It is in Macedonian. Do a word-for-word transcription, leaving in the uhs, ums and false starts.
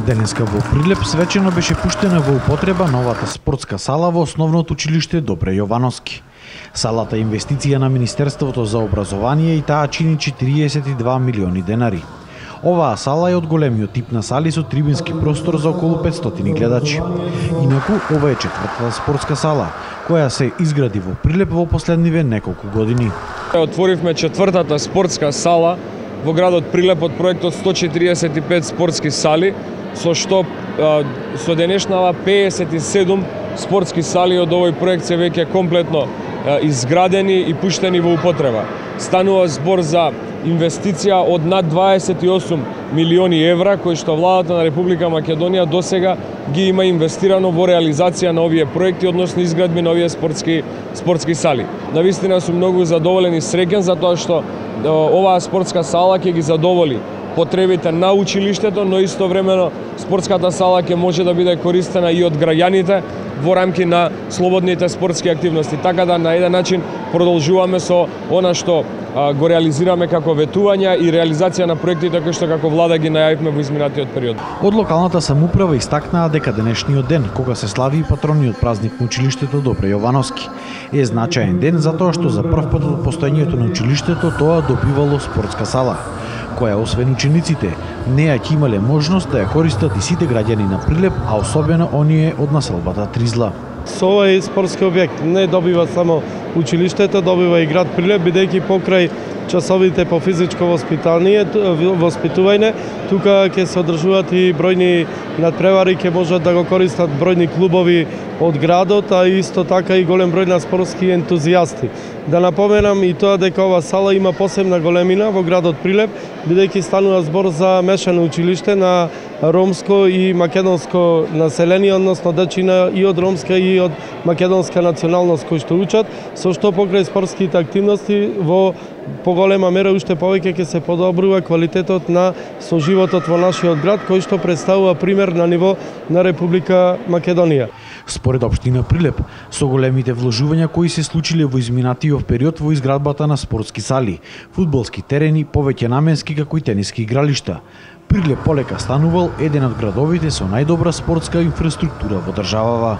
Денеска во Прилеп свечено беше пуштена во употреба новата спортска сала во Основното училиште Добре Јовановски. Салата е инвестиција на Министерството за образование и таа чини четириесет и два милиони денари. Оваа сала е од големиот тип на сали со трибински простор за околу петстотини гледачи. Инаку, ова е четвртата спортска сала, која се изгради во Прилеп во последниве неколку години. Отворивме четвртата спортска сала во градот Прилеп од проектот сто четириесет и пет спортски сали, со што со денешнава пеесет и седум спортски сали од овој проект се веќе комплетно изградени и пуштени во употреба. Станува збор за инвестиција од над дваесет и осум милиони евра, кои што владата на Република Македонија досега ги има инвестирано во реализација на овие проекти, односно изградби на овие спортски спортски сали. Навистина сум многу задоволен и среќен затоа што оваа спортска сала ќе ги задоволи потребите на училиштето, но истовремено спортската сала ќе може да биде користена и од граѓаните во рамки на слободните спортски активности. Така да на еден начин продолжуваме со она што а, го реализираме како ветувања и реализација на проектите кои што како влада ги најавивме во изминатиот период. Од локалната самоуправа истакнаа дека денешниот ден, кога се слави и патрониот празник на училиштето Добре Јовановски, е значаен ден затоа што за прв пат од постоењето на училиштето тоа добивало спортска сала, која освен учениците, неа ќе имале можност да ја користат и сите граѓани на Прилеп, а особено оние од населбата Тризла. Со овој спортски објект не добива само училиштето, добива и град Прилеп, бидејќи покрај часовите по физичко воспитание, воспитување, тука ќе се одржуваат и бројни надпревари, ќе можат да го користат бројни клубови од градот, а исто така и голем број на спортски ентузијасти. Да напоменам и тоа дека ова сала има посебна големина во градот Прилеп, бидејќи станува збор за мешано училиште на ромско и македонско население, односно дечина и од ромска и од македонска националност кои што учат, со што покрај спортските активности во поголема мера уште повеќе ќе се подобрува квалитетот на соживотот во нашиот град, кој што представува пример на ниво на Република Македонија. Според општина Прилеп, со големите вложувања кои се случиле во изминатиот период во изградбата на спортски сали, фудбалски терени, повеќе наменски како и тениски игралишта, Прилеп полека станувал еден од градовите со најдобра спортска инфраструктура во државава.